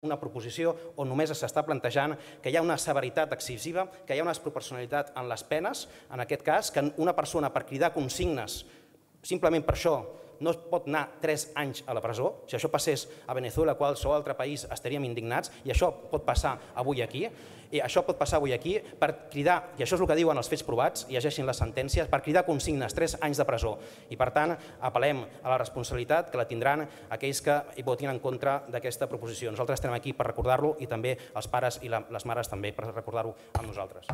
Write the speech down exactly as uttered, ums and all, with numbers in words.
una proposició on només s'està plantejant que hi ha una severitat excessiva, que hi ha una desproporcionalitat en les penes, en aquest cas, que una persona per cridar consignes, simplement per això, no es pot anar tres anys a la presó. Si això passés a Venezuela o qualsevol altre país estaríem indignats, i això pot passar avui aquí. I això pot passar avui aquí per cridar, i això és el que diuen els fets provats, llegeixin les sentències, per cridar consignes, tres anys de presó. I per tant, apel·lem a la responsabilitat que la tindran aquells que hi votin en contra d'aquesta proposició. Nosaltres estem aquí per recordar-lo i també els pares i les mares també per recordar-ho amb nosaltres.